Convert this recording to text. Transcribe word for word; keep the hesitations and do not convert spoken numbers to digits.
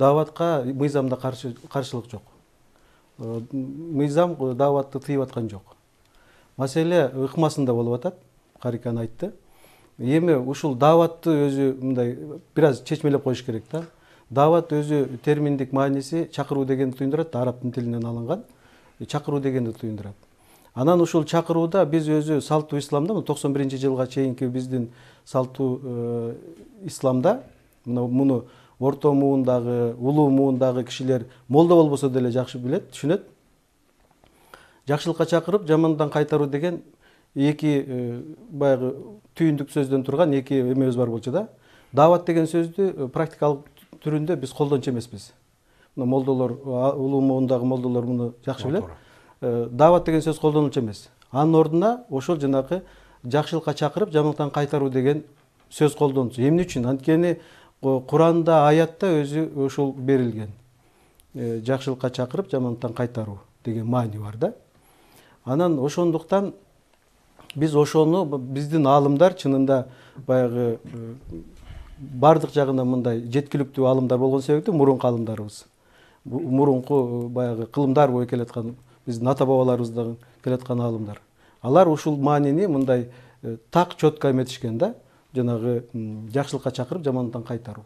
дааватка мыйзамда каршылык жок. Мыйзам дааватты тыйып аткан жок. Маселе ыкмасында болуп атат, Карикан айтты. Эми ушул дааватты өзү мындай бир аз чечмелеп коюш керек да. Даават өзү терминдик мааниси чакыруу дегенди туюндурат, араб тилинен алынган. Чакыруу дегенди туюндурат. Анан ушул чакырууда биз өзү салттуу исламда токсон биринчи жылга чейинки биздин салттуу исламда муну орто муундагы, улуу муундагы кишилер молдо болбосо деле жакшы билет, түшүнөт. Жакшылыкка чакырып, жамандан кайтаруу деген эки баягы түйүндүк сөздөн турган эки эмебиз бар болчу да. Даават деген сөздү практикалык түрүндө биз колдончу эмеспиз. Мына молдолор, улуу муундагы молдолор муну жакшы билет. Даават деген сөз колдонулчу эмес. Анын ордуна ошол жанагы жакшылыкка чакырып, жамандыктан кайтаруу деген сөз колдонулчу. Эмне үчүн? Анткени Куранда, аятта өзү ошол берилген. Жакшылыкка чакырып, жамандыктан кайтаруу деген маани бар да. Анан ошондуктан биз ошону биздин аалымдар чынында баягы бардык жагынан мындай жеткиликтүү аалымдар болгон себептен мурунку аалымдарыбыз. Мурунку баягы кылымдар бою келаткан биздин ата бабаларыбыздан келаткан аалымдар. Алар ушул маанини мындай так четко эметишкен да, жанагы жакшылыкка чакырып, жамандыктан кайтаруу.